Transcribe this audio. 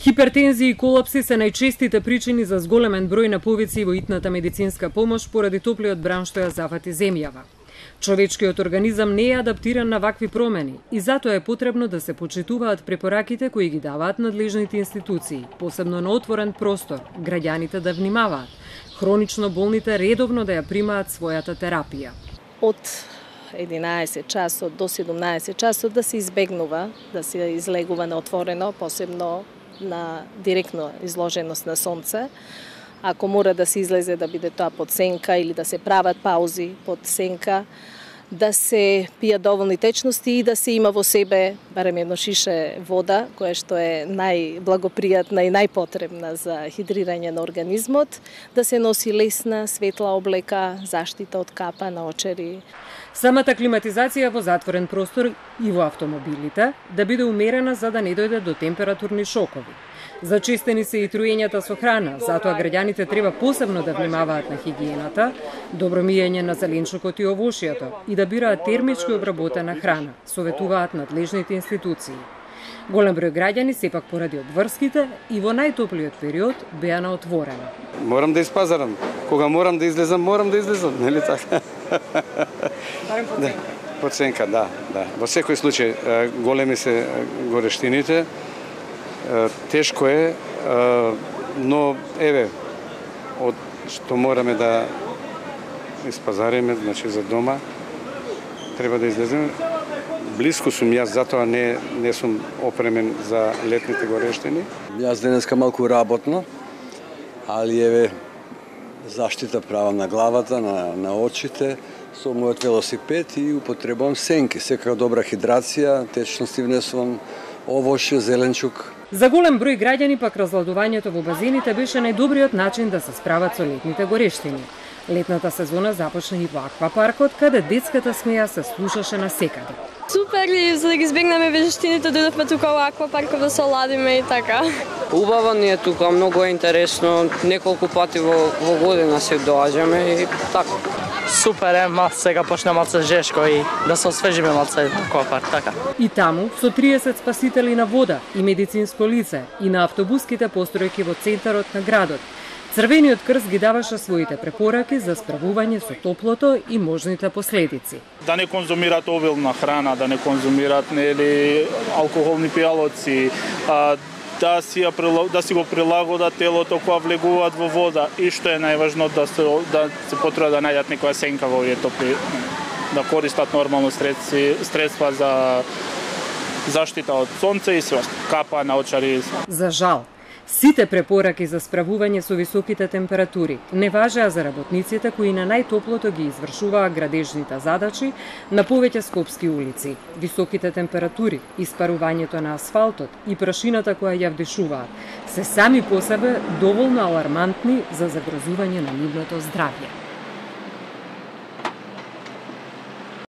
Хипертензија и колапси се најчестите причини за зголемен број на повици во итната медицинска помош поради топлиот бран што ја зафати земјава. Човечкиот организам не е адаптиран на вакви промени и затоа е потребно да се почитуваат препораките кои ги даваат надлежните институции, посебно на отворен простор, граѓаните да внимаваат, хронично болните редовно да ја примаат својата терапија. Од 11 часот до 17 часот да се избегнува, да се излегува на отворено, посебно на директно изложеност на сонце. Ако мора да се излезе, да биде тоа под сенка или да се прават паузи под сенка, да се пијат доволни течности и да се има во себе барем едно шише вода, која што е најблагопријатна и најпотребна за хидрирање на организмот, да се носи лесна, светла облека, заштита од капа на очери. Самата климатизација во затворен простор и во автомобилите да биде умерена за да не дојде до температурни шокови. Зачестени се и труењата со храна, затоа граѓаните треба посебно да внимаваат на хигиената, добро мијење на зеленчукот и овошјето и да бираат термички обработена храна, советуваат надлежните институции. Голем број граѓани сепак поради обврските и во најтоплиот период беа на отворено. Морам да испазарам. Кога морам да излезам, морам да излезам, нели така? Барем по ценка. По ценка, да. Во секој случај големи се горештините. Тешко е, но еве, од што мораме да испазариме, значи за дома, треба да излеземе. Блиску сум јас, затоа не сум опремен за летните горештини. Јас денеска малку работно, али еве заштита правам на главата, на очите, со мојот велосипед и употребувам сенки. Секако добра хидрација, течности внесувам овошје, зеленчук. За голем број граѓани пак разладувањето во базените беше најдобриот начин да се справат со летните горештини. Летната сезона започна и во аквапаркот, каде детската смеја се слушаше насекаде. Супер, за да ги избегнеме вежештините, дојдовме тука во аквапаркот да се оладиме и така. Убаво ни е тука, многу е интересно, неколку пати во година се доаѓаме и така. Супер е, сега почна малце жешко и да се освежиме малце на аквапарк, така. И таму, со 30 спасители на вода и медицинско лице и на автобуските постројки во центарот на градот, Црвениот крст ги даваше своите препораки за справување со топлото и можните последици. Да не конзумират обилна храна, да не конзумират алкохолни пијалоци, да си го прилагодат телото кога влегуваат во вода и што е најважно да се потруат да најдат некоја сенка во овие топли, да користат нормално средства за заштита од сонце и све, капа на очари. За жал, сите препораки за справување со високите температури не важеа за работниците кои на најтоплото ги извршуваа градежните задачи на повеќе скопски улици. Високите температури, испарувањето на асфалтот и прашината која ја вдишуваат се сами по себе доволно алармантни за загрозување на нивното здравје.